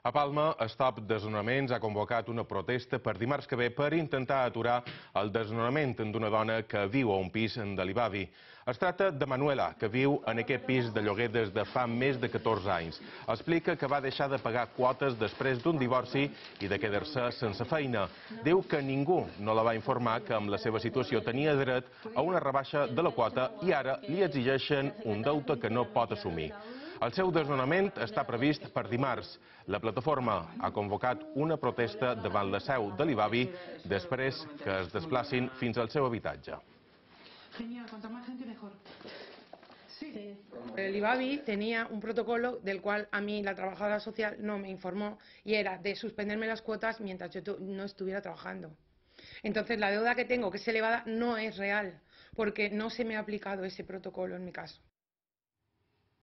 A Palma, Stop Desnonaments ha convocat una protesta per dimarts que ve per intentar aturar el desnonament d'una dona que viu a un pis de l'Ibavi. Es tracta de Manuela, que viu en aquest pis de lloguer des de fa més de 14 anys. Explica que va deixar de pagar quotes després d'un divorci i de quedar-se sense feina. Diu que ningú no la va informar que amb la seva situació tenia dret a una rebaixa de la quota i ara li exigeixen un deute que no pot assumir. El seu desnonament està previst per dimarts. La plataforma ha convocat una protesta davant la seu de l'Ibavi després que es desplacin fins al seu habitatge. El IBAVI tenía un protocolo del cual a mí la trabajadora social no me informó y era de suspenderme las cuotas mientras yo no estuviera trabajando. Entonces la deuda que tengo, que es elevada, no es real porque no se me ha aplicado ese protocolo en mi caso.